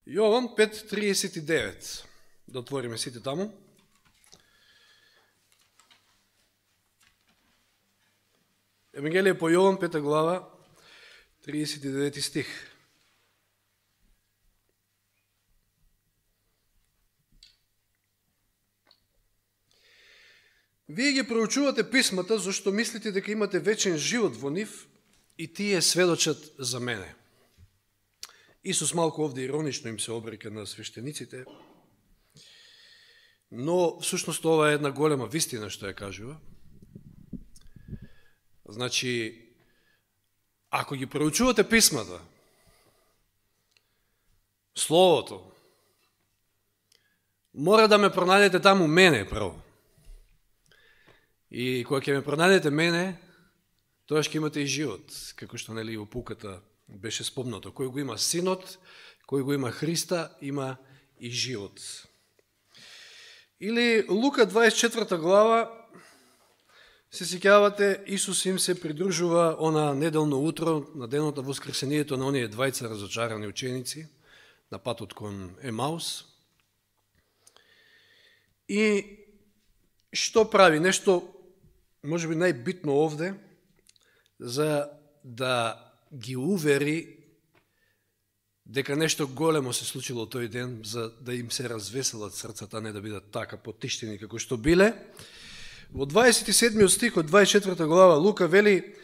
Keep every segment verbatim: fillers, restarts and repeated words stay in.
Јован пет триесет и девет. Да отвориме сите таму. Евангелие по Јован, пета глава, триесет и девети стих. Вие ги проучувате писмата, зашто мислите дека имате вечен живот во нив и тие сведочат за мене. Исус малку овде иронично им се обрека на свештениците, но всушност ова е една голема вистина што ја кажува. Значи, ако ги проучувате писмата, Словото, мора да ме пронајдете таму мене прво. И кога ќе ме пронајдете мене, тогаш ќе имате и живот, како што нели во пуката беше спомнато. Кој го има Синот, кој го има Христа, има и живот. Или Лука дваесет и четврта глава, се сеќавате, Исус им се придружува она неделно утро, на денот на воскресението на оние двајца разочарани ученици, на патот кон Емаус. И што прави? Нешто, може би најбитно овде, за да ги увери дека нешто големо се случило тој ден, за да им се развеселат срцата, не да бидат така потиштени како што биле. Во дваесет и седмиот стих од дваесет и четврта глава Лука вели: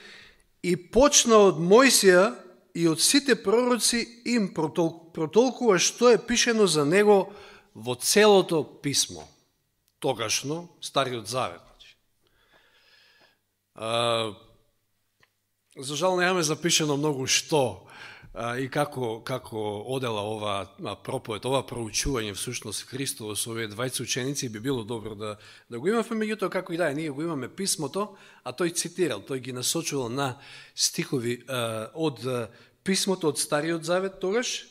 и почна од Мојсија и од сите пророци им протол, протолкува што е пишено за него во целото писмо. Тогашно, Стариот Завет. А, за жал немаме запишено многу што а, и како, како одела ова проповед, ова проучување всушност Христово со овие двајца ученици, би било добро да, да го имаме, меѓутоа како и да е, ние го имаме писмото, а тој цитирал, тој ги насочувал на стихови а, од а, писмото од Стариот Завет тогаш.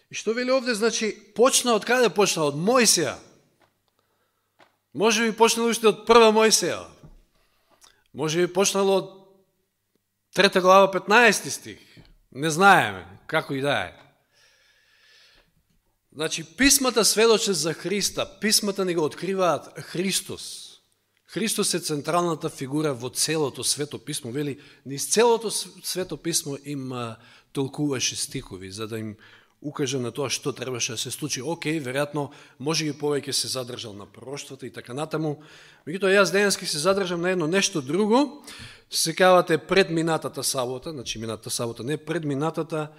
И што вели овде, значи, почна од каде почна? Од Мојсија. Може би почнало уште од прва Мојсија. Може би почнало од трета глава, петнаесети стих. Не знаеме, како и да е. Значи, писмата сведочат за Христа, писмата ни го откриваат Христос. Христос е централната фигура во целото свето писмо. Вели, низ целото свето писмо им а, толкуваше стихови, за да им укаже на тоа што требаше да се случи. Океј, веројатно, може би повеќе се задржал на пророштвата и така натаму. Меѓутоа, јас денески се задржам на едно нешто друго. Секавате пред минатата сабота, значи минатата сабота, не пред минатата,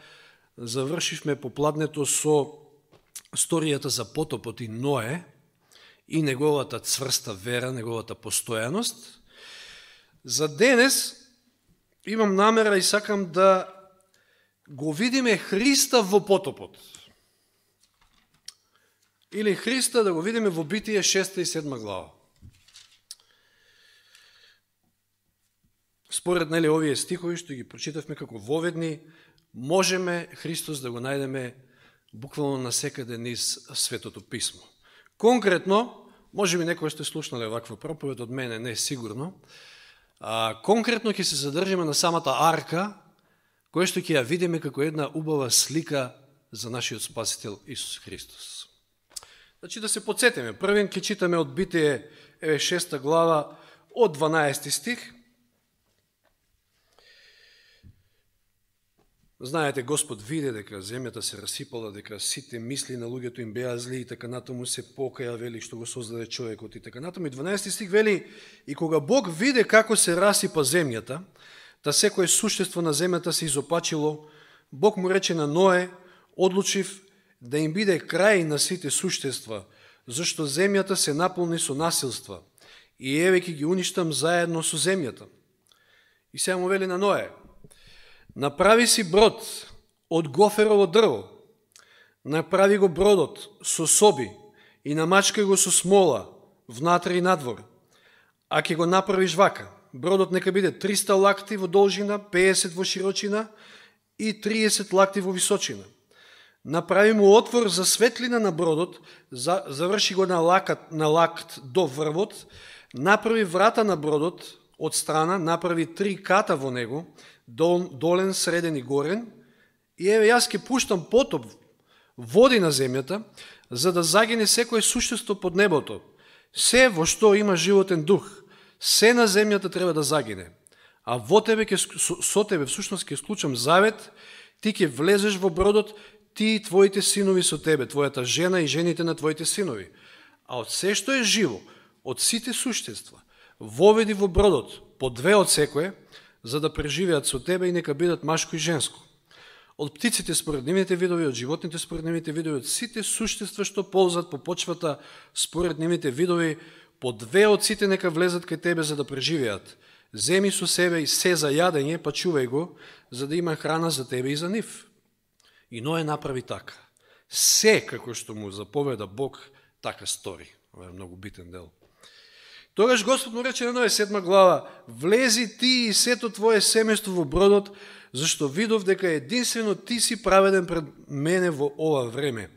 завршивме попладнето со сторијата за потопот и Ное и неговата цврста вера, неговата постојаност. За денес имам намера и сакам да го видиме Христа во потопот. Или Христа да го видиме во Битие шеста и седма глава. Според нели овие стихови што ги прочитавме како воведни, можеме Христос да го најдеме буквално насекаде низ Светото писмо. Конкретно, може би некој сте слушнале ваква проповед од мене, не е сигурно, а, конкретно ќе се задржиме на самата арка, која што ќе ја видиме како една убава слика за нашиот Спасител Исус Христос. Значи да се подсетиме, првен ќе читаме од Битие шеста глава од дванаесети стих. Знаете, Господ виде дека земјата се расипала, дека сите мисли на луѓето им беа зли и така натаму се покаја, вели што го создаде човекот и така натаму. И дванаесети стих вели: и кога Бог виде како се расипа земјата, та секое суштество на земјата се изопачило, Бог му рече на Ное: одлучив да им биде крај на сите суштества, зашто земјата се наполни со насилства, и еве ќе ги уништам заедно со земјата. И сега му вели на Ное: направи си брод од гоферово дрво, направи го бродот со соби и намачкај го со смола внатре и надвор, а ќе го направиш вака: бродот нека биде триста лакти во должина, педесет во широчина и триесет лакти во височина. Направи му отвор за светлина на бродот, заврши го на лакат, на лакт до врвот, направи врата на бродот од страна, направи три ката во него, долен, среден и горен, и еве јас ќе пуштам потоп води на земјата, за да загине секое суштество под небото. Се во што има животен дух, се на земјата треба да загине. А во тебе, ке, со, со тебе всушност ќе склучам завет, ти ќе влезеш во бродот, ти и твоите синови со тебе, твојата жена и жените на твоите синови. А од се што е живо, од сите суштества, воведи во бродот, по две од секое, за да преживеат со тебе и нека бидат машко и женско. Од птиците според нивните видови, од животните според нивните видови, од сите суштества што ползат по почвата според нивните видови, по две од сите нека влезат кај тебе за да преживеат. Земи со себе и се за јадење, па чувај го, за да има храна за тебе и за нив. И Ное направи така. Се како што му заповеда Бог, така стори. Ова е многу битен дел. Тогаш Господ му рече на Ное, седма глава, влези ти и сето твое семејство во бродот, зашто видов дека единствено ти си праведен пред мене во ова време.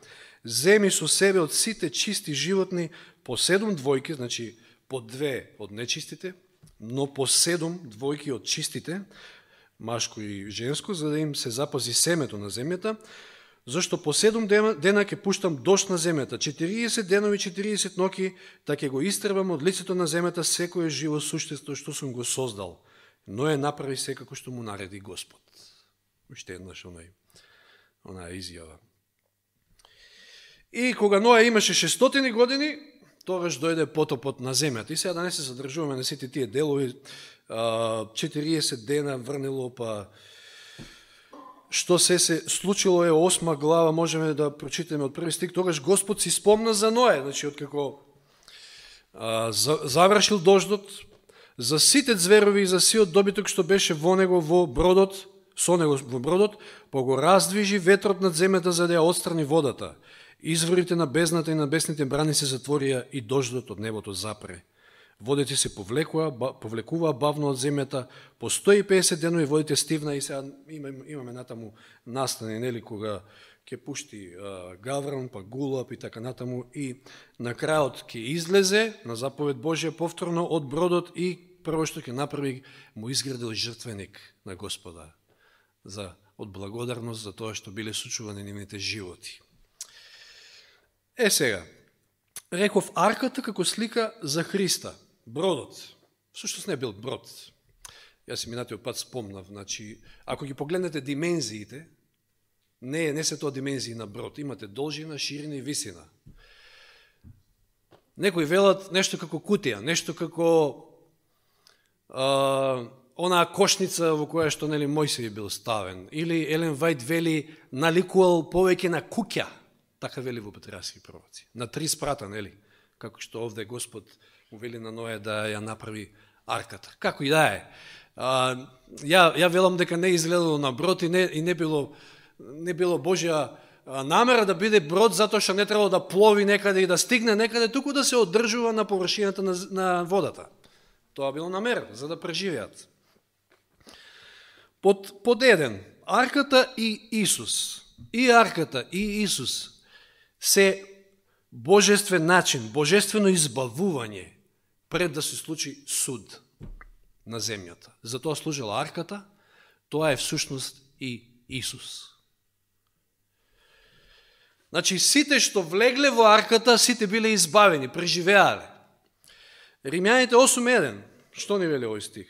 Земи со себе од сите чисти животни по седум двојки, значи по две од нечистите, но по седум двојки од чистите, машко и женско, за да им се запази семето на земјата, зашто по седум дена ќе пуштам дожд на земјата, четириесет денови, четириесет ноќи, та ќе го истребам од лицето на земјата секое живо суштество што сум го создал. Но е направи секако што му нареди Господ. Уште еднаш онај, онаа изјава. И кога Ное имаше шестстотини години, тогаш дојде потопот на земјата. И сега да не се задржуваме на сите тие делови, четириесет дена врнело, па што се се случило е осма глава, можеме да прочитаме од први стих. Тогаш Господ си спомна за Ное, значи откако а, за, завршил дождот, за сите зверови и за сиот добиток што беше во него во бродот, со него во бродот, па го раздвижи ветрот над земјата за да ја отстрани водата. Изворите на бездната и на бесните брани се затворија и дождот од небото запре. Водите се повлекува, повлекуваа бавно од земјата, по сто и песет денови водите стивна и сега имаме, имаме натаму настани, нели, кога ќе пушти а, гавран, па гулап и така натаму, и на крајот ќе излезе на заповед Божја повторно од бродот и прво што ќе направи, му изградил жртвеник на Господа за од благодарност за тоа што биле сочувани нивните животи. Е сега, реков арката како слика за Христа, бродот. Всушност не бил брод. Јас си минатиот пат спомнав, значи, ако ги погледнете димензиите, не, не се тоа димензии на брод, имате должина, ширина и висина. Некои велат нешто како кутија, нешто како а, онаа кошница во која што нели Мојсей бил ставен, или Елен Вајд вели наликувал повеќе на куќа, така вели во Патриарски пророци, на три спрата, нели, како што овде Господ му вели на Ное да ја направи арката. Како и да е. А, ја, ја велам дека не изгледало на брод и не, и не било, не било Божја намера да биде брод затоа што не требало да плови некаде и да стигне некаде, туку да се одржува на површината на, на водата. Тоа било намера, за да преживеат. Под, под еден, арката и Исус. И арката и Исус се божествен начин, божествено избавување пред да се случи суд на земјата. Затоа служила арката, тоа е всушност и Исус. Значи, сите што влегле во арката, сите биле избавени, преживеале. Римјаните осум еден, што ни вели овој стих?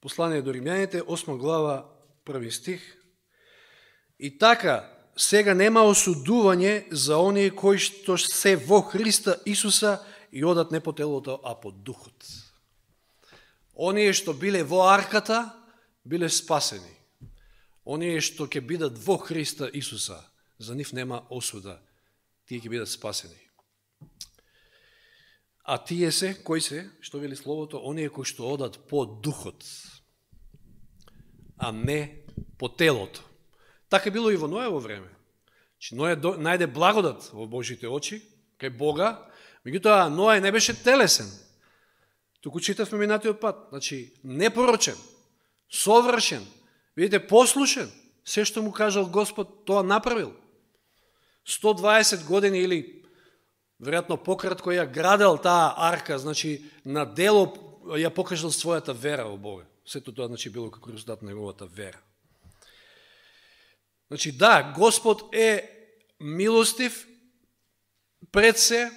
Послание до Римјаните, осма глава, први стих. И така, сега нема осудување за оние кои што се во Христа Исуса и одат не по телото, а по духот. Оние што биле во арката, биле спасени. Оние што ќе бидат во Христа Исуса, за нив нема осуда. Тие ќе бидат спасени. А тие се, кои се, што вели Словото, оние кои што одат по духот, а не по телото. Така било и во Ноево време. Че Ное најде благодат во Божите очи, кај Бога, меѓутоа Ное не беше телесен. Туку читавме минатиот пат. Значи, непорочен, совршен, видите, послушен, се што му кажал Господ, тоа направил. сто дваесет години или веројатно пократко ја градел таа арка, значи на дело ја покажал својата вера во Бога. Сето тоа значи било како резултат на неговата вера. Значи да, Господ е милостив пред се,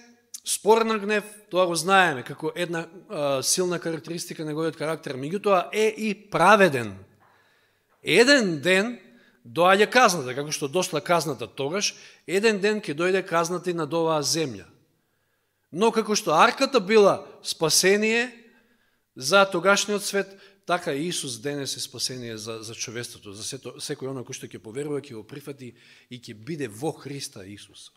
спорен гнев, тоа го знаеме како една а, силна карактеристика на неговиот карактер, меѓутоа е и праведен. Еден ден доаѓа казната, како што дошла казната тогаш, еден ден ќе дојде казната и над оваа земја. Но како што арката била спасение за тогашниот свет, така и Исус денес е спасение за, за човеството, за сето, секој оно кој што ќе поверува, ќе го прифати и ќе биде во Христа Исус.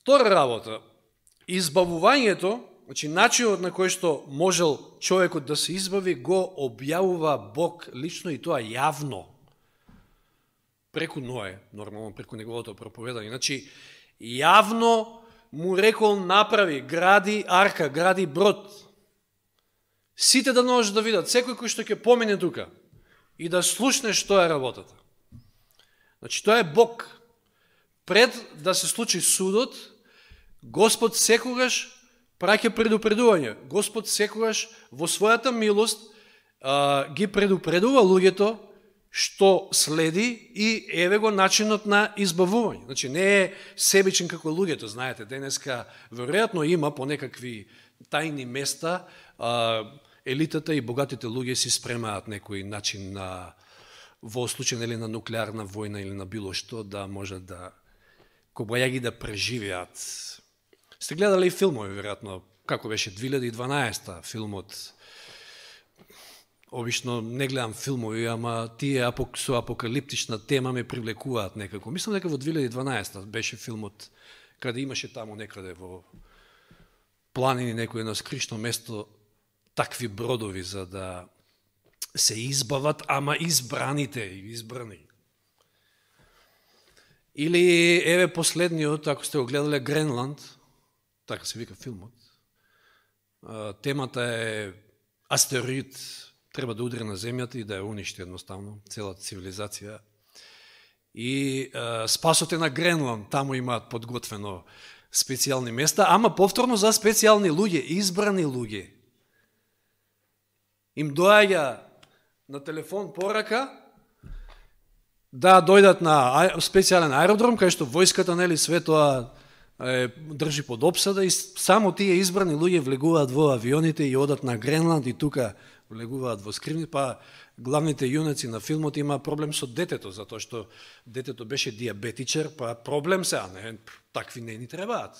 Втора работа, избавувањето, значи начинот на кој што можел човекот да се избави, го објавува Бог лично и тоа јавно. Преку Ное, нормално преку неговото проповедање. Значи, јавно му рекол направи, гради арка, гради брод. Сите да можеш да видат, секој кој што ќе помине тука и да слушне што е работата. Значи, тоа е Бог. Пред да се случи судот, Господ секогаш праќа предупредување. Господ секогаш во својата милост а, ги предупредува луѓето што следи и еве го начинот на избавување. Значи не е себичен како луѓето, знаете, денеска веројатно има по некакви тајни места, а, елитата и богатите луѓе си спремаат некој начин на во случај или на нуклеарна војна или на било што да можат да кобајаги да преживеат. Сте гледали филмови, веројатно, како беше две илјади и дванаесета филмот. Обично не гледам филмови, ама тие со апокалиптична тема ме привлекуваат некако. Мислам дека во две илјади и дванаесета беше филмот, каде имаше таму некаде во планини некој на скришно место такви бродови за да се избават, ама избраните и избрани. Или еве последниот, ако сте го гледале, Гренланд, така се вика филмот. Темата е астероид, треба да удри на земјата и да ја уништи едноставно целата цивилизација. И е, спасот е на Гренланд, таму имаат подготвено специјални места, ама повторно за специјални луѓе, избрани луѓе. Им доаѓа на телефон порака да дојдат на специјален аеродром, кај што војската, нели, све тоа е, држи под обсада и само тие избрани луѓе влегуваат во авионите и одат на Гренланд и тука влегуваат во скривни, па главните јунаци на филмот има проблем со детето, затоа што детето беше диабетичар, па проблем се, а не, такви не ни требаат,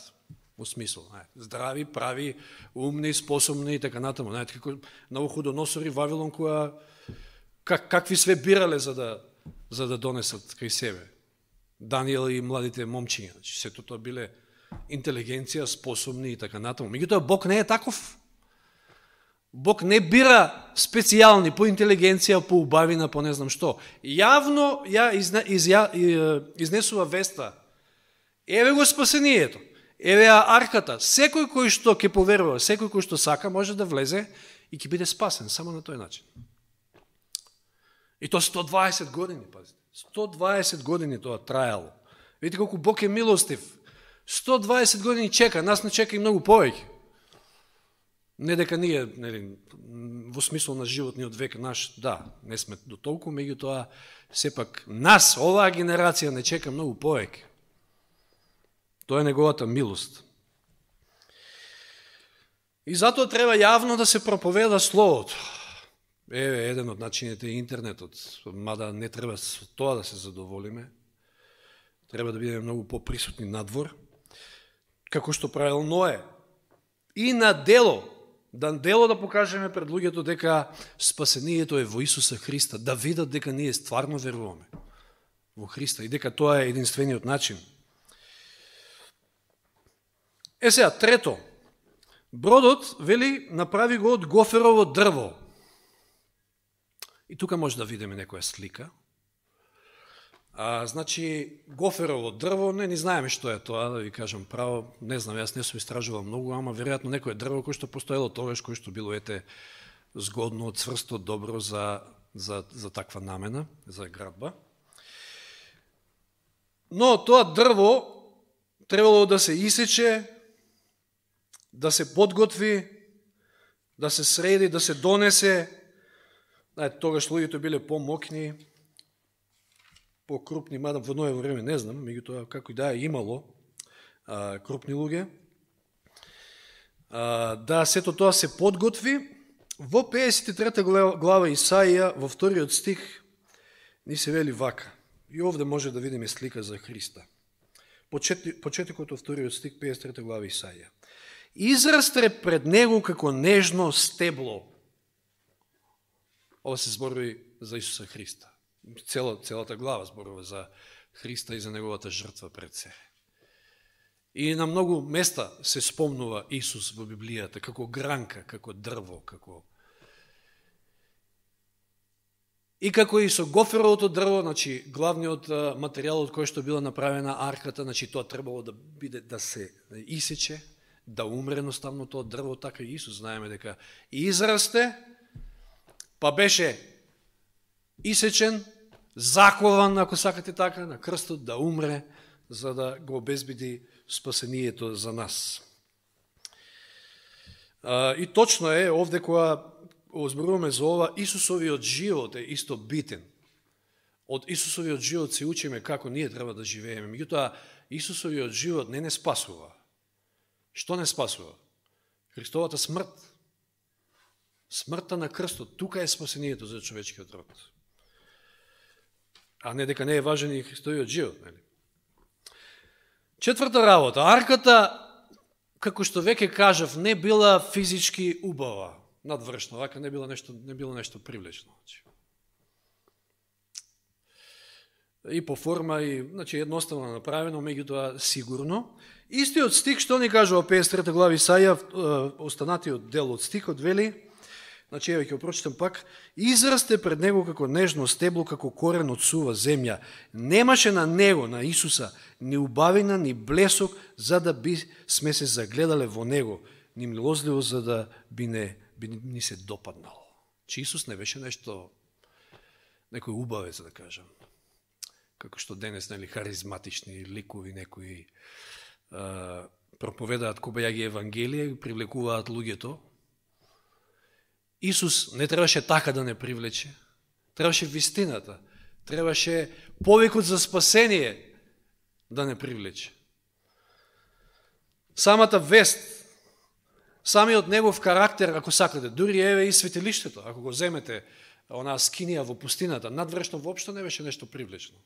во смисол, не, здрави, прави, умни, способни и така натаму, не, како новохудоносори Вавилон, која, как, какви све бирале за да, за да донесат кај себе. Даниел и младите момчиња, значи сето тоа биле интелигенција, способни и така натаму. Меѓутоа Бог не е таков. Бог не бира специјални по интелигенција, по убавина, по не знам што. Јавно ја изне, изја, изнесува веста. Еве го спасението. Еве ја арката. Секој кој што ќе поверува, секој кој што сака, може да влезе и ќе биде спасен само на тој начин. И то сто дваесет години, пазите. сто дваесет години тоа трајало. Видите колку Бог е милостив. сто дваесет години чека, нас не чека и многу повеќе. Не дека ние, нели, во смисол на животниот век наш, да, не сме до толку, меѓутоа сепак нас, оваа генерација не чека многу повеќе. Тоа е неговата милост. И затоа треба јавно да се проповеда словото. Еве еден од начините е интернетот, мада не треба со тоа да се задоволиме. Треба да бидеме многу поприсутни надвор, како што правил Ное. И на дело, да дело да покажеме пред луѓето дека спасението е во Исуса Христа, да видат дека ние стварно веруваме во Христа и дека тоа е единствениот начин. Е сега, трето, бродот, вели, направи го од гоферово дрво. И тука може да видиме некоја слика. А, значи, гоферово дрво, не ни знаеме што е тоа, да ви кажам право, не знам, јас не сум истражувал многу, ама веројатно некој дрво кој што постоело тогаш, кој што било ете згодно, цврсто, добро за, за, за таква намена, за градба. Но тоа дрво требало да се исече, да се подготви да се среди, да се донесе. Знаете, тогаш луѓето биле по-мокни, по-крупни, мада во ново време не знам, меѓутоа како и да е имало а, крупни луѓе. А, да сето тоа се подготви. Во педесет и трета глава Исаија, во вториот стих, ни се вели вака. И овде може да видиме слика за Христа. Почетокот од вториот стих, педесет и трета глава Исаија. Израсте пред него како нежно стебло. Ова се зборови за Исуса Христа. Цела, целата глава зборува за Христа и за неговата жртва пред се. И на многу места се спомнува Исус во Библијата како гранка, како дрво, како... И како и со гоферовото дрво, значи главниот материјал од кој што била направена арката, значи тоа требало да биде да се исече, да умре едноставно тоа дрво, така и Исус знаеме дека израсте, па беше исечен, закован, ако сакате така, на крстот да умре, за да го обезбеди спасението за нас. И точно е, овде кога озборуваме за ова, Исусовиот живот е исто битен. Од Исусовиот живот се учиме како ние треба да живееме. Меѓутоа, Исусовиот живот не не спасува. Што не спасува? Христовата смрт. Смртта на крстот. Тука е спасението за човечкиот род. А не дека не е важен и Христовиот живот. Нели? Четврта работа. Арката, како што веќе кажав, не била физички убава, надвршна, вака не било нешто, не било нешто привлечно. И по форма, и значи, едноставно направено, меѓутоа сигурно. Истиот стих што ни кажува педесет и трета глава Исаија, останатиот дел од стихот, вели, значи, еве ќе прочитам пак, израсте пред него како нежно стебло, како корен од сува земја. Немаше на него, на Исуса, ни убавина, ни блесок, за да би сме се загледале во него, ни милозливо, за да би не би ни се допаднал. Че Исус не беше нешто, некој убавец, да кажам. Како што денес, нели, харизматични ликови, некои а, проповедаат кобајаги евангелие, привлекуваат луѓето. Исус не требаше така да не привлече. Требаше вистината. Требаше повикот за спасение да не привлече. Самата вест, самиот негов карактер, ако сакате, дури еве и светилиштето, ако го земете, онаа скинија во пустината, надвршно воопшто не беше нешто привлечно.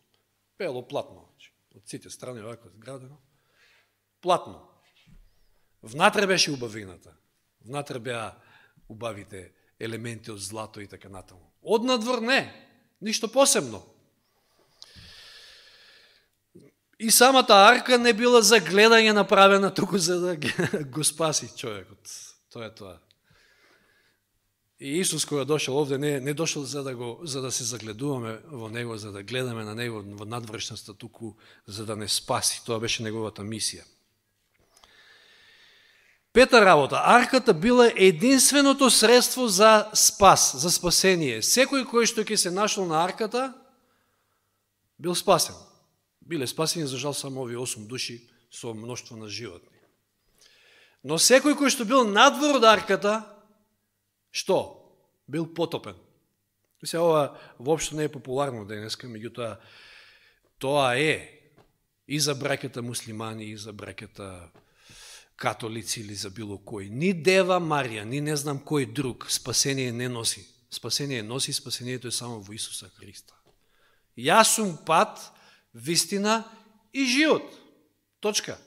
Бело платно, од сите страни овако зградено. Платно. Внатре беше убавината. Внатре беа убавите елементи од злато и така натаму. Од надвор не, ништо посебно. И самата арка не била за гледање направена туку за да го спаси човекот. Тоа е тоа. И Исус кога дошол овде не не дошол за да го за да се загледуваме во него, за да гледаме на него во надвршноста, туку за да не спаси. Тоа беше неговата мисија. Пета работа, арката била единственото средство за спас, за спасение. Секој кој што ќе се нашол на арката бил спасен. Биле спасени, за жал, само овие осум души со мноштво на животни. Но секој кој што бил надвор од арката, што? Бил потопен. Се ова воопшто не е популарно денеска, меѓутоа тоа е и за браќата муслимани, и за браќата католици или за било кој. Ни Дева Марија, ни не знам кој друг спасение не носи. Спасение носи, спасението е само во Исуса Христа. Јас сум пат, вистина и живот. Точка.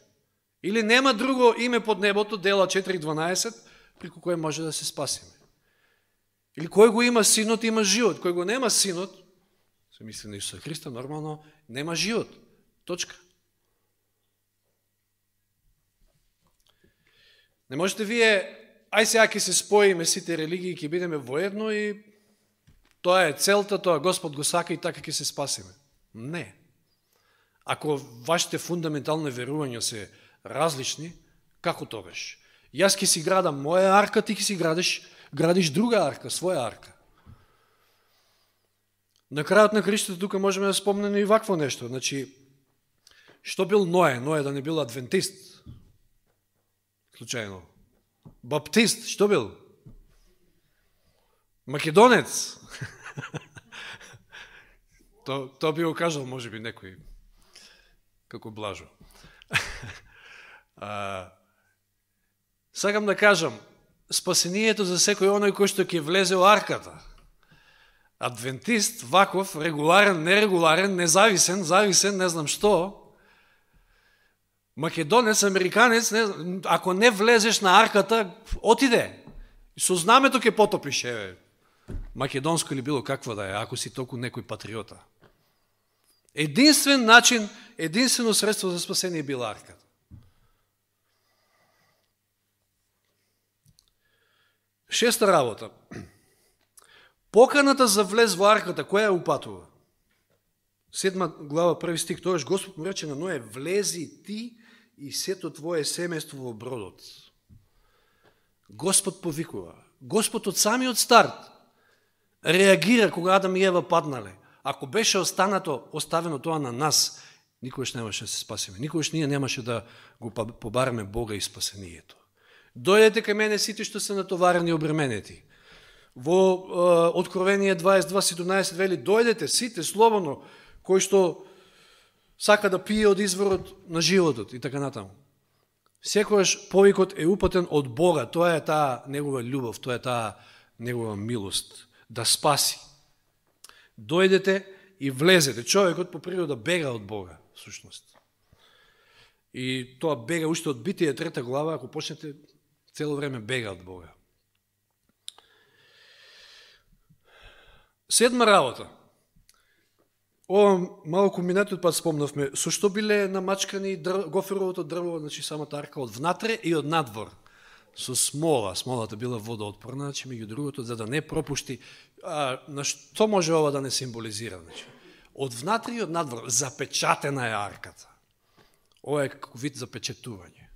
Или нема друго име под небото, дела четири дванаесет, преку кој може да се спасиме. Или кој го има синот, има живот. Кој го нема синот, се мисли на Исуса Христа, нормално, нема живот. Точка. Не можете вие, ај сега ќе се споиме сите религии, ќе бидеме воедно и тоа е целта, тоа Господ го сака и така ќе се спасиме. Не. Ако вашите фундаментални верувања се различни, како тогаш? Јас ќе си градам моја арка, ти ќе си градиш, градиш друга арка, своја арка. На крајот на Христото тука можеме да спомнеме и вакво нешто. Значи, што бил Ное? Ное да не бил адвентист. Случајно. Баптист, што бил? Македонец. то, то би го кажал, може би, некој, како Блажо. а, сакам да кажам, спасението за секој оној кој што ќе влезе во арката. Адвентист, ваков, регуларен, нерегуларен, независен, зависен, не знам што, македонец, американец, не, ако не влезеш на арката, отиде. Со знамето ќе потопиш, еве, македонско или било каква да е, ако си толку некој патриота. Единствен начин, единствено средство за спасение била арката. Шеста работа. Поканата за влез во арката, која ја упатува? Седма глава, први стих, тоаш Господ му рече на Ное, влези ти и сето твое семејство во бродот. Господ повикува. Господ од самиот старт реагира кога Адам и Ева паднале. Ако беше останато, оставено тоа на нас, никогаш немаше да се спасиме. Никогаш ние немаше да го побараме Бога и спасението. Дојдете кај мене сите што се натоварени и обременети. Во е, Откровение дваесет и два седумнаесет вели, дојдете сите слободно, кои што сака да пие од изворот на животот и така натаму. Секојаш повикот е упатен од Бога, тоа е таа негова љубов, тоа е таа негова милост, да спаси. Дојдете и влезете. Човекот по природа бега од Бога, всушност. И тоа бега уште од Битие трета глава, ако почнете, цело време бега од Бога. Седма работа. Ова малку минатиот пат спомнавме, со што биле намачкани дрв, гоферовото дрво, значи самата арка од внатре и од надвор. Со смола, смолата била водоотпорна, значи меѓу другото, за да не пропушти. А, на што може ова да не символизира? Значи, од внатре и од надвор, запечатена е арката. Ова е како вид запечатување.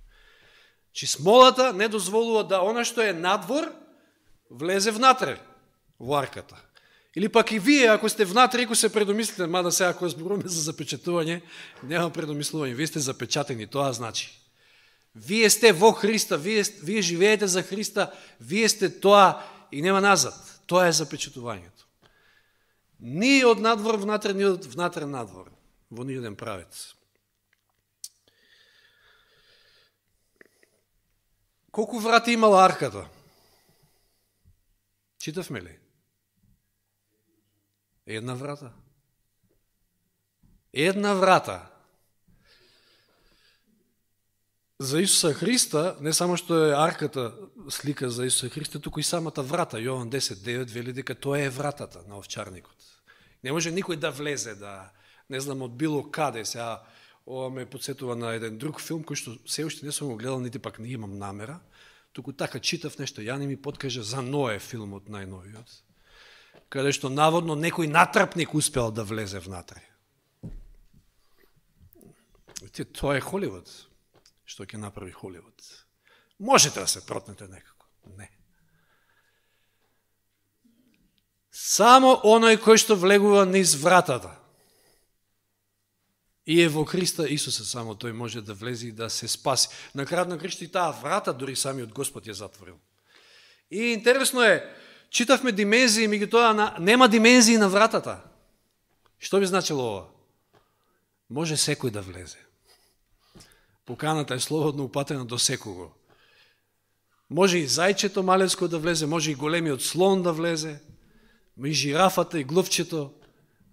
Чи смолата не дозволува да она што е надвор влезе внатре во арката. Или пак и вие, ако сте внатре, ако се предомислите, мада сега ако зборуваме за запечатување, нема предомислување, вие сте запечатени, тоа значи. Вие сте во Христа, вие, вие живеете за Христа, вие сте тоа и нема назад. Тоа е запечатувањето. Ни од надвор внатре, ни од внатре надвор, во ниједен правец. Колку врати имала арката? Читавме ли? Една врата. Една врата. За Исуса Христа, не само што е арката слика за Исуса Христа, туку и самата врата. Јован десет девет вели дека тоа е вратата на овчарникот. Не може никој да влезе, да не знам од било каде. Сега ова ме подсетува на еден друг филм кој што се уште не сум го гледал, нити пак не имам намера. Туку така читав нешто, ја не ми подкаже за Ное филмот најновиот, каде што наводно некој натрапник успел да влезе внатре. Тоа е Холивуд. Што ќе направи Холивуд? Можете да се протнете некако. Не. Само оној кој што влегува низ вратата и е во Христа Исуса, само тој може да влезе и да се спаси. На крајот на кршта и таа врата дури самиот Господ ја затворил. И интересно е, читавме димензии, меѓутоа на, нема димензии на вратата. Што би значило ова? Може секој да влезе. Поканата е слободно упатена до секого. Може и зајчето малецко да влезе, може и големиот слон да влезе, и жирафата, и глувчето.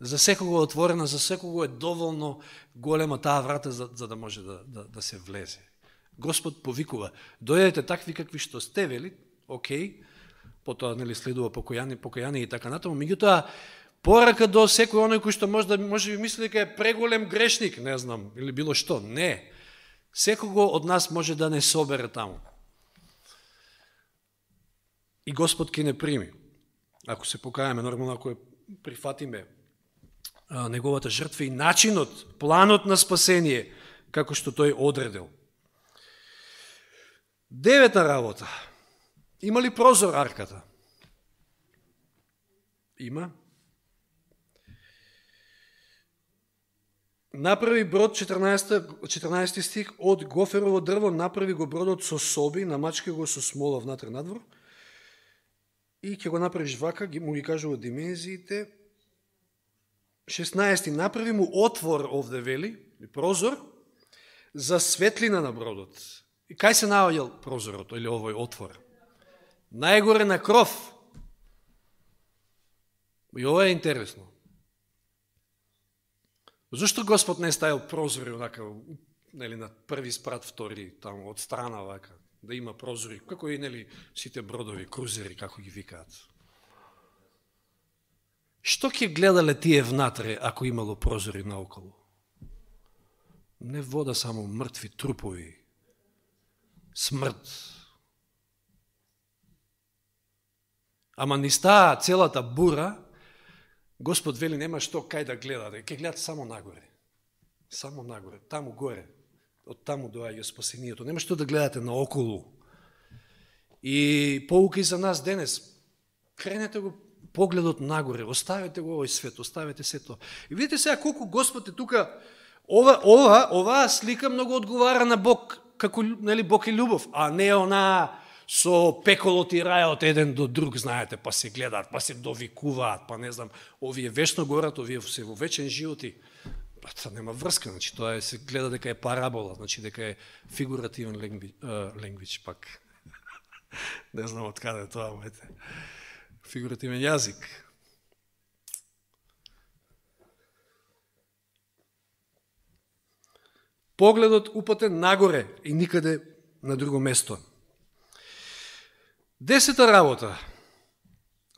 За секого отворена, за секого е доволно голема таа врата за, за да може да, да, да се влезе. Господ повикува, дојдете такви какви што сте, вели, окей, потоа нели следува покаяние, покаяние и така натаму, меѓутоа порака до секој оној кој што може да може би мисли дека е преголем грешник, не знам, или било што, не. Секого од нас може да не собере таму. И Господ ќе не прими. Ако се покајаме, нормално ако прифатиме а, неговата жртва и начинот, планот на спасение, како што тој одредил. Девета работа. Има ли прозор арката? Има. Направи брод, четрнаесети стих, од гоферово дрво направи го бродот со соби, намачка го со смола внатре надвор и ќе го направиш вака, му ги кажува димензиите. шеснаести направи му отвор овде вели, прозор, за светлина на бродот. И кај се наоѓал прозорот или овој отвор? Најгоре на кров. И ова е интересно. Зошто Господ не ставил прозори онака, нели, на први спрат, втори, таму, од страна вака, да има прозори, како и, нели, сите бродови, крузери, како ги викаат. Што ќе гледале тие внатре, ако имало прозори наоколу? Не вода, само мртви трупови, смрт. Ама ни стаа целата бура, Господ вели нема што кај да гледате, ќе гледате само нагоре. Само нагоре, таму горе. Од таму доаѓа спасението. Нема што да гледате наоколу. И поука и за нас денес. Кренете го погледот нагоре, оставете го овој свет, оставете сето. И видите сега колку Господ е тука. Ова, ова, оваа слика многу одговара на Бог, како, нели, Бог е љубов, а не она со пеколот и рајот еден до друг, знаете, па се гледаат, па се довикуваат, па не знам, овие вечно горат, овие се во вечен животи. Па тоа нема врска, значи тоа е, се гледа дека е парабола, значи дека е фигуративен ленгвич, пак. Не знам од каде е тоа, моите. Фигуративен јазик. Погледот упатен нагоре и никаде на друго место. Десета работа.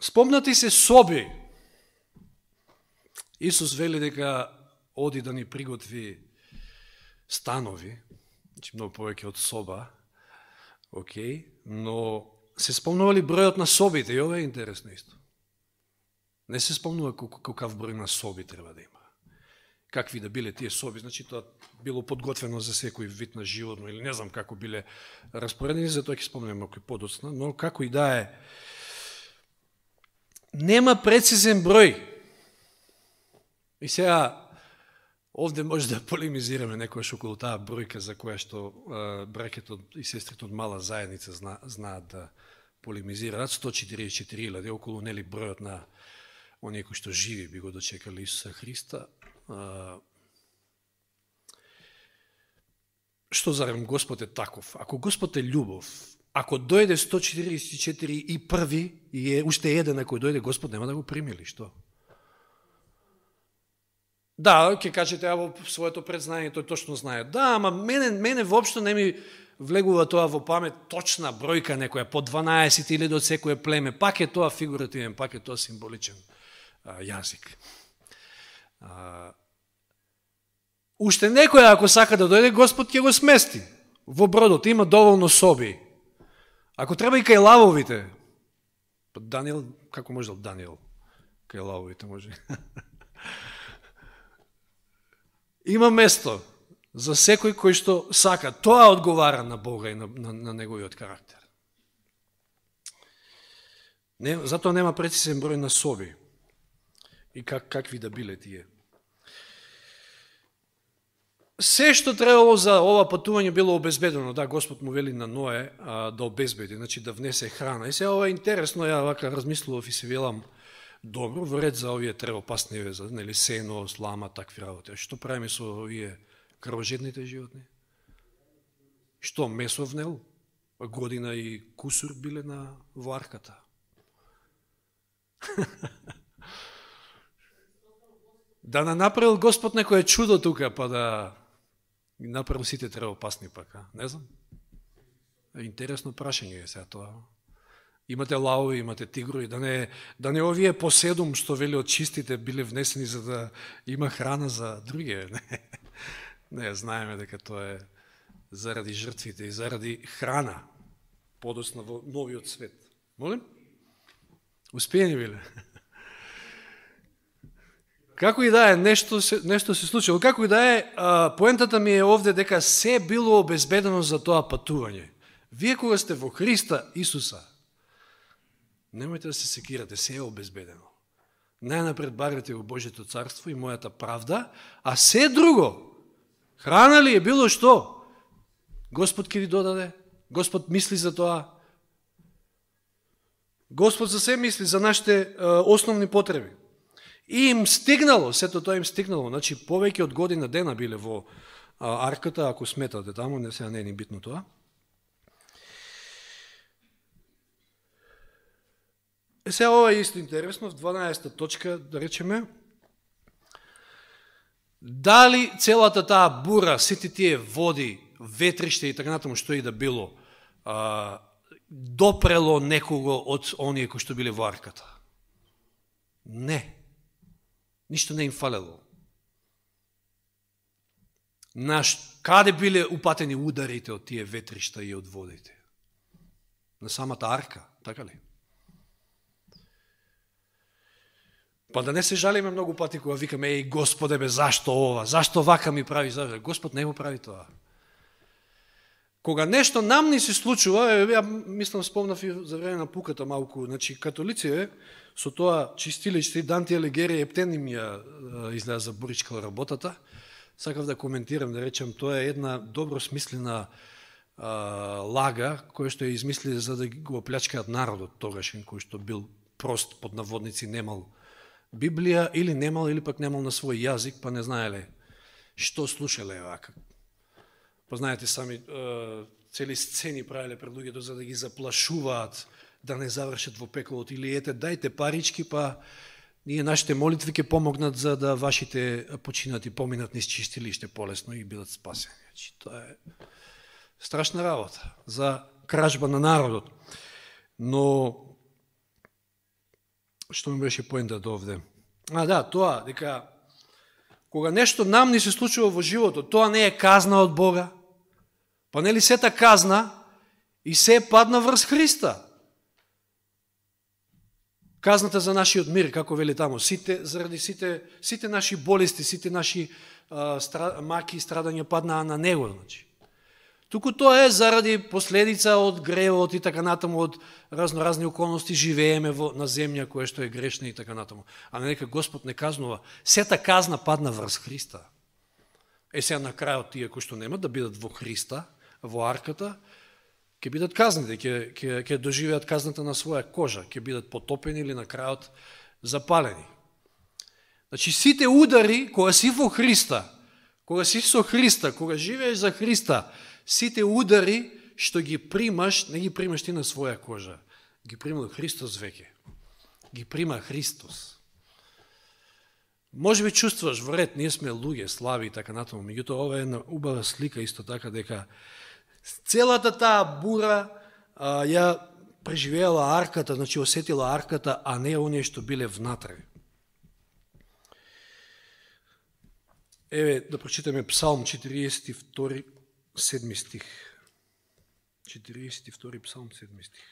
Спомнати се соби. Исус вели дека оди да ни приготви станови, значи многу повеќе од соба, окей, но се спомнували бројот на собите, и ова е интересно исто. Не се спомнува какав број на соби треба да има. Какви да биле тие соби, значи тоа било подготвено за секој вид на животно, или не знам како биле распоредени, за тоа ќе спомнем малку подоцна, но како и да е, нема прецизен број. И сега, овде може да полемизираме некојаш околу таа бројка за која што браќето и сестрите од мала заедница зна, знаат да полемизираат, сто четириесет и четири илјади, околу нели бројот на оние кои што живи би го дочекали Исуса Христа. Што зарем Господ е таков? Ако Господ е љубов, ако дојде сто четириесет и четири и први, и е уште еден ако дојде, Господ нема да го примили, што? Да, ќе кажете, а во своето предзнание тој точно знае. Да, ама мене, мене воопшто не ми влегува тоа во памет точна бројка некоја, по дванаесет илјади од секое племе, пак е тоа фигуративен, пак е тоа символичен а, јазик. А, уште некој, ако сака да дојде, Господ ќе го смести. Во бродот има доволно соби. Ако треба и кај лавовите, Даниел, како можел Даниел? Кај лавовите може. Има место за секој кој што сака. Тоа одговара на Бога и на, на, на неговиот карактер. Не, затоа нема прецизен број на соби. И как, какви да биле тие. Се што требало за ова патување било обезбедено. Да, Господ му вели на Ное а, да обезбеди, значи да внесе храна. И сега ова е интересно, ја вака размислував и се велам, добро, во ред за овие тревопасни, за нели сено, слама, такви работи. Што правиме со овие крвожедните животни? Што месо внел? Година и кусур биле на во арката. Да не направил Господ некој чудо тука, па да направил сите тревопасни пак, а? Не знам. Интересно прашање е сега тоа. Имате лаови, имате тигрови, да не, да не овие по седум, што вели од чистите, биле внесени за да има храна за другие. Не, не знаеме дека тоа е заради жртвите и заради храна, подоцна во новиот свет. Молим? Успеени биле? Како и да е, нешто се, нешто се случило. Како и да е, поентата ми е овде дека се било обезбедено за тоа патување. Вие кога сте во Христа Исуса, немојте да се секирате, се е обезбедено. Најнапред барете во Божјето царство и мојата правда, а се друго, храна ли е било што, Господ ќе ви додаде, Господ мисли за тоа. Господ за се мисли за нашите а, основни потреби. И им стигнало, сето тоа им стигнало, значи повеќе од година дена биле во а, арката, ако сметате таму, не сега не е ни битно тоа. Е, сега ова е исто интересно, в дванаесета точка, да речеме, дали целата таа бура, сите тие води, ветриште и така натаму, што и да било, а, допрело некого од оние кои што биле во арката? Не. Ништо не им фалело. Наш, каде биле упатени ударите од тие ветришта и од водите? На самата арка, така ли? Па да не се жалиме многу пати кога викаме, еј Господе бе, зашто ова? Зашто вака ми прави? Зашто? Господ не го прави тоа. Кога нешто нам ни се случува, ја мислам спомнав и за време на пуката малку, значи католици со тоа чистилиште Данте Алигиери ептен им ја излеа за буричкала работата. Сакав да коментирам, да речем, тоа е една добро смислена а, лага, која што ја измисли за да го оплячкаат народот тогашен, кој што бил прост, под наводници, немал Библија, или немал, или пак немал на свој јазик, па не знаеле што слушале вака. Па знаете сами, цели сцени правиле пред луѓето за да ги заплашуваат, да не завршат во пеколот, или ете, дајте парички, па ние нашите молитви ќе помогнат за да вашите починати поминат низ чистилиште полесно и бидат спасени. Тоа е страшна работа за кражба на народот. Но што ми беше поентата овде? А, да, тоа, дека кога нешто нам ни се случува во животот, тоа не е казна од Бога. Па нели сета казна и се падна врз Христа. Казната за нашиот мир, како вели тамо, сите, заради сите, сите наши болести, сите наши а, стра, маки и страдања паднаа на Него. Значи. Туку тоа е заради последица од гревот и така натаму, од разноразни околности живееме во, на земја која што е грешна и така натаму. А нека Господ не казнува. Сета казна падна врз Христа. Е сега на крајот тие кои што немат да бидат во Христа, во арката, ќе бидат казнати, ќе, ќе, ќе доживеат казната на своја кожа, ќе бидат потопени или на крајот запалени. Значи сите удари кога си во Христа, кога си со Христа, кога живееш за Христа, сите удари што ги примаш, не ги примаш ти на своја кожа, ги прима Христос веќе. Ги прима Христос. Може би чувствуваш вред, ние сме луѓе, слави и така натаму, меѓутоа ова е една убава слика исто така дека целата таа бура а, ја преживеала арката, значи осетила арката, а не оние што биле внатре. Еве да прочитаме Псалм четириесет и втори, седми стих. четириесет и втори Псалм, седми стих.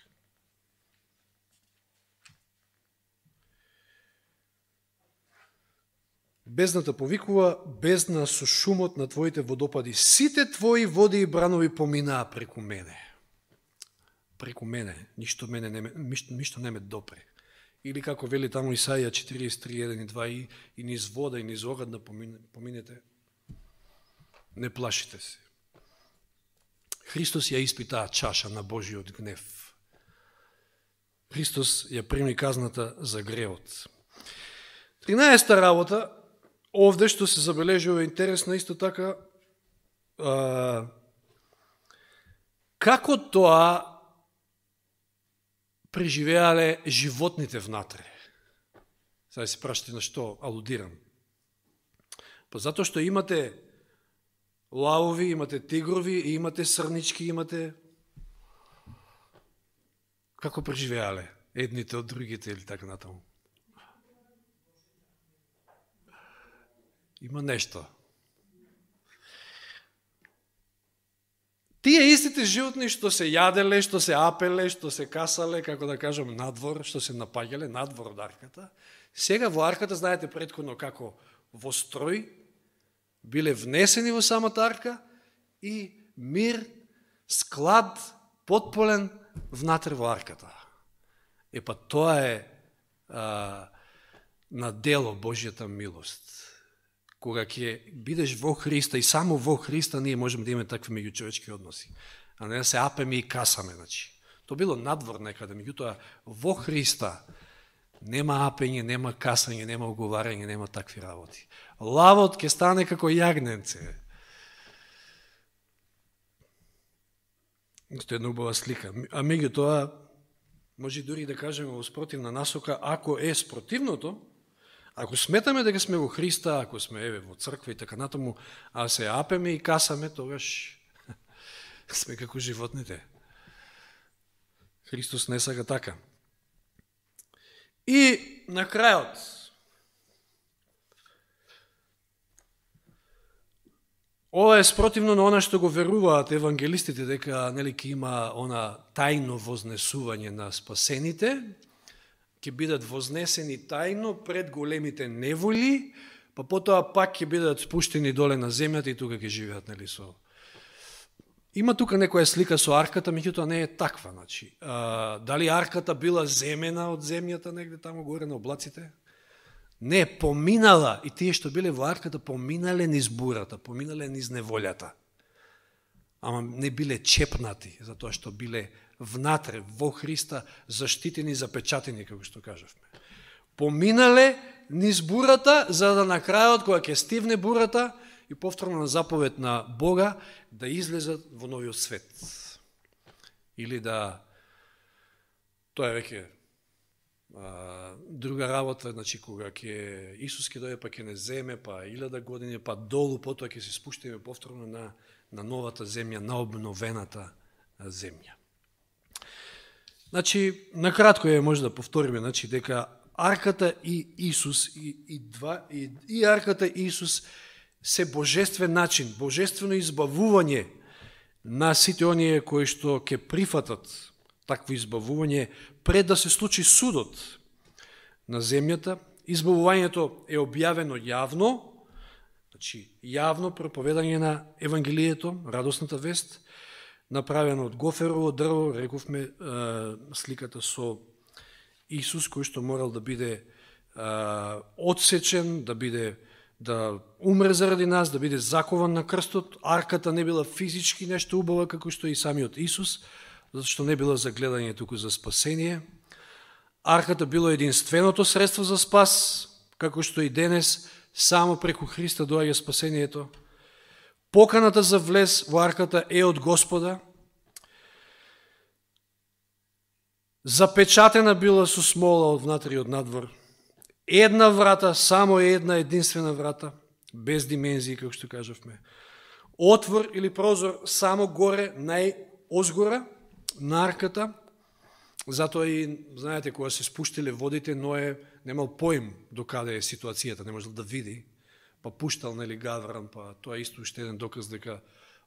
Бездната повикува, бездна со шумот на твоите водопади. Сите твои води и бранови поминаа преку мене. Преку мене. Ништо мене не ме, ништо, ништо не ме допре. Или како вели таму Исаија четириесет и три, еден и два, и, и низ вода, и низ огад да поминете. Не плашите се. Христос ја испитаа чаша на Божиот гнев. Христос ја прими казната за гревот. тринаесета работа, овде што се забележува интересна исто така, а, како тоа преживеале животните внатре. Сега се прашате на што алудирам. Па затоа што имате лавови, имате тигрови, и имате срнички, имате... Како преживеале едните од другите или така натаму? Има нешто. Тие истите животни што се јаделе, што се апеле, што се касале, како да кажем, надвор, што се напаѓале, надвор од арката, сега во арката, знаете претходно како во строј, биле внесени во самата арка и мир, склад, потполен внатре во арката. Е па тоа е а, на дело Божјата милост. Кога ќе бидеш во Христа и само во Христа ние можеме да имаме такви меѓучовечки односи. А не да се апеме и касаме. Значи. То било надвор некаде, меѓутоа во Христа нема апење, нема касање, нема оговарање, нема такви работи. Лавот ќе стане како јагненце. Тоа е една убава слика. А меѓутоа, може дури да кажеме во спротивна насока, ако е спротивното, ако сметаме дека сме во Христа, ако сме еве во црква и така натаму, а се апеме и касаме, тогаш сме како животните. Христос не сака така. И на крајот, ова е спротивно на она што го веруваат евангелистите, дека нели ќе има она тајно вознесување на спасените, ќе бидат вознесени тајно пред големите неволи, па потоа пак ќе бидат спуштени доле на земјата и тука ќе живеат, нели со. Има тука некоја слика со арката, меѓутоа не е таква, значи. А, дали арката била земена од земјата негде таму горе на облаците? Не, поминала, и тие што биле во арката поминале низ бурата, поминале низ неволјата. Ама не биле чепнати, затоа што биле внатре, во Христа, заштитени, запечатени, како што кажавме. Поминале низ бурата, за да на крајот, кога ќе стивне бурата, и повторно на заповед на Бога, да излезат во новиот свет. Или да, тоа е веќе друга работа, значи кога ќе Исус ќе дојде, па ќе не земе, па илјада години, па долу, потоа ќе се спуштиме повторно на, на новата земја, на обновената земја. Значи, накратко е може да повториме, значи, дека арката и Исус, и, и, два, и, и арката и Исус се божествен начин, божествено избавување на сите оние кои што ќе прифатат такво избавување пред да се случи судот на земјата. Избавувањето е објавено јавно, значи јавно проповедање на Евангелието, радосната вест, направено од гоферово дрво, рековме сликата со Исус, кој што морал да биде одсечен, да биде да умре заради нас, да биде закован на крстот. Арката не била физички нешто убава, како што и самиот Исус, зашто не била за гледање, туку за спасение. Арката било единственото средство за спас, како што и денес, само преку Христа доаѓа спасението. Поканата за влез во арката е од Господа. Запечатена била со смола од внатре и од надвор. Една врата, само една единствена врата, без димензии, како што кажавме. Отвор или прозор само горе, најозгора на арката. Затоа и, знаете, кога се спуштиле водите, Ное немал поим до каде е ситуацијата, не можел да види, па пуштал, нели, гавран, па тоа исто уште еден доказ дека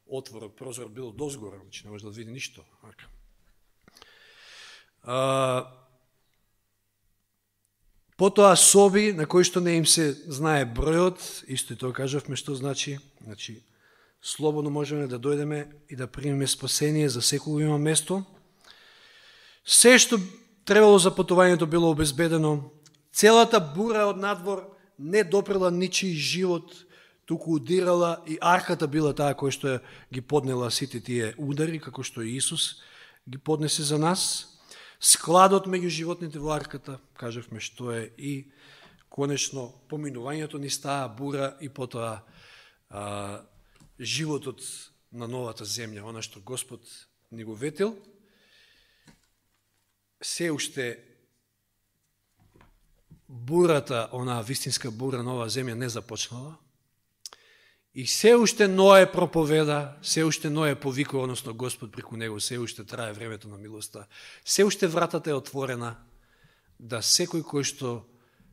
отворот, прозор бил дозгора, значи не може да види ништо. А, потоа соби на кои што не им се знае бројот, исто и тоа кажавме што значи, значи слободно можеме да дојдеме и да примеме спасение, за секој има место. Се што требало за патувањето било обезбедено, целата бура од надвор не допрела ничи живот, туку удирала и арката била таа која што ги поднела сите тие удари, како што и Исус ги поднесе за нас. Складот меѓу животните во арката, кажавме што е и конечно поминувањето низ таа бура и потоа а, животот на новата земја, она што Господ ни го ветил. Се уште бурата, онаа вистинска бура нова земја не започнала. И се уште Ное проповеда, се уште Ное повикува, односно Господ преку него, се уште трае времето на милоста, се уште вратата е отворена, да секој кој што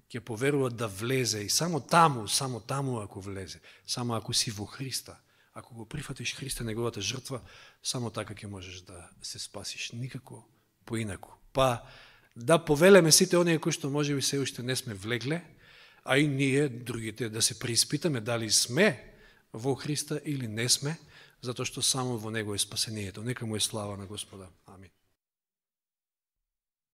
ќе поверува да влезе, и само таму, само таму ако влезе, само ако си во Христа, ако го прифатиш Христа, неговата жртва, само така ќе можеш да се спасиш, никако поинаку. Па да повелеме сите оние кои што можеби се уште не сме влегле, а и ние, другите, да се преиспитаме дали сме во Христа или не сме, затоа што само во Него е спасението. Нека му е слава на Господа. Амин.